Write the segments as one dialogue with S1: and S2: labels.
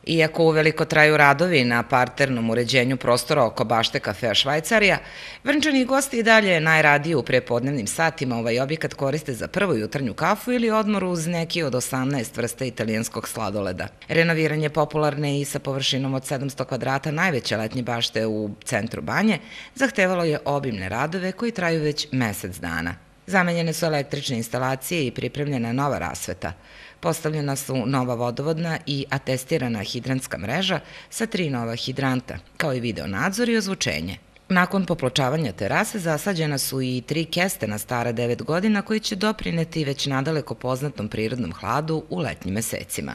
S1: Iako uveliko traju radovi na parternom uređenju prostora oko bašte kafea Švajcarija, Vrnčani gosti i dalje najradije u prepodnevnim satima ovaj objekat koriste za prvu jutarnju kafu ili odmor uz neki od 18 vrsta italijanskog sladoleda. Renoviranje popularne i sa površinom od 700 kvadrata najveće letnje bašte u centru Banje zahtevalo je obimne radove koji traju već mesec dana. Zamenjene su električne instalacije i pripremljena nova rasveta. Postavljena su nova vodovodna i atestirana hidrantska mreža sa 3 nova hidranta, kao i video nadzor i ozvučenje. Nakon popločavanja terase zasađena su i 3 kestena stara 9 godina koji će doprineti već nadaleko poznatom prirodnom hladu u letnjim mesecima.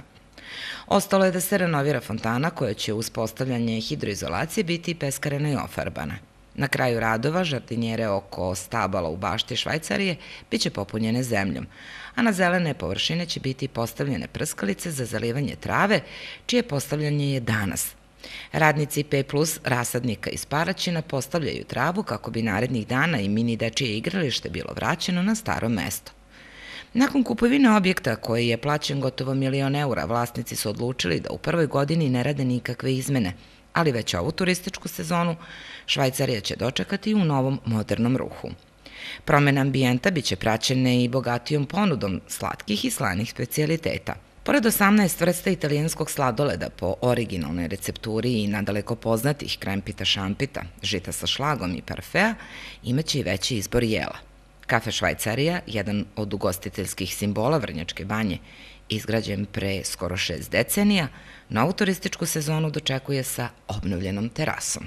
S1: Ostalo je da se renovira fontana koja će uz postavljanje hidroizolacije biti peskarena i ofarbana. Na kraju radova žardinjere oko stabala u bašti Švajcarije biće popunjene zemljom, a na zelene površine će biti postavljene prskalice za zalivanje trave, čije postavljanje je danas. Radnici P+ rasadnika iz Paraćina postavljaju travu kako bi narednih dana i mini dečije igralište bilo vraćeno na staro mesto. Nakon kupovine objekta koji je plaćen gotovo €1.000.000, vlasnici su odlučili da u prvoj godini ne rade nikakve izmene, ali već ovu turističku sezonu Švajcarija će dočekati u novom modernom ruhu. Promena ambijenta biće praćene i bogatijom ponudom slatkih i slanih specijaliteta. Pored 18 vrsta italijanskog sladoleda po originalnoj recepturi i nadaleko poznatih krempita šampita, žita sa šlagom i parfea, imaće i veći izbor jela. Kafe Švajcarija, jedan od ugostiteljskih simbola Vrnjačke Banje, izgrađen pre skoro 6 decenija, novu turističku sezonu dočekuje sa obnovljenom terasom.